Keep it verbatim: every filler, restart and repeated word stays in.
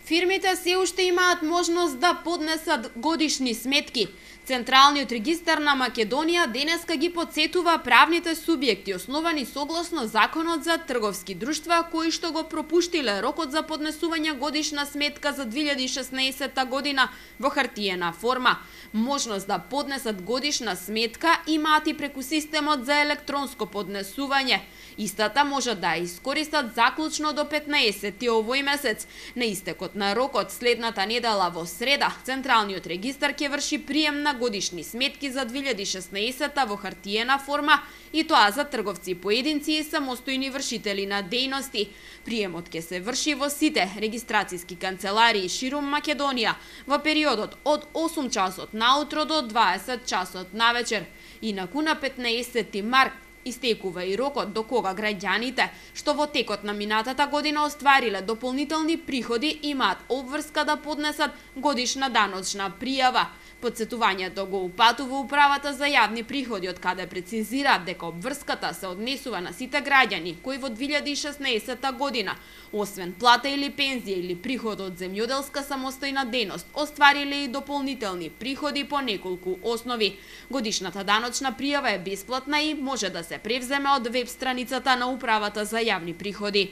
Фирмите се уште имаат можност да поднесат годишни сметки. Централниот регистар на Македонија денеска ги потсетува правните субјекти основани согласно Законот за трговски друштва, кои што го пропуштиле рокот за поднесување годишна сметка за две илјади и шеснаесетта година во хартиена форма. Можност да поднесат годишна сметка имаат и преку системот за електронско поднесување. Истата може да ја искористат заклучно до петнаесети овој месец. На истекот на рокот следната недела во среда, Централниот регистар ќе врши прием на годишни сметки за две илјади и шеснаесетта во хартиена форма, и тоа за трговци поединци и самостојни вршители на дејности. Приемот ќе се врши во сите регистрацијски канцеларии ширум Македонија во периодот од осум часот наутро до дваесет часот навечер. Инаку на петнаесети март истекува и рокот до кога граѓаните што во текот на минатата година оствариле дополнителни приходи имаат обврска да поднесат годишна даночна пријава. Подсетувањето го упатува Управата за јавни приходи, од каде прецизираат дека обврската се однесува на сите граѓани кои во две илјади и шеснаесетта година, освен плата или пензија или приход од земјоделска самостојна дејност, оствариле и дополнителни приходи по неколку основи. Годишната даночна пријава е бесплатна и може да се превземе од веб страницата на Управата за јавни приходи.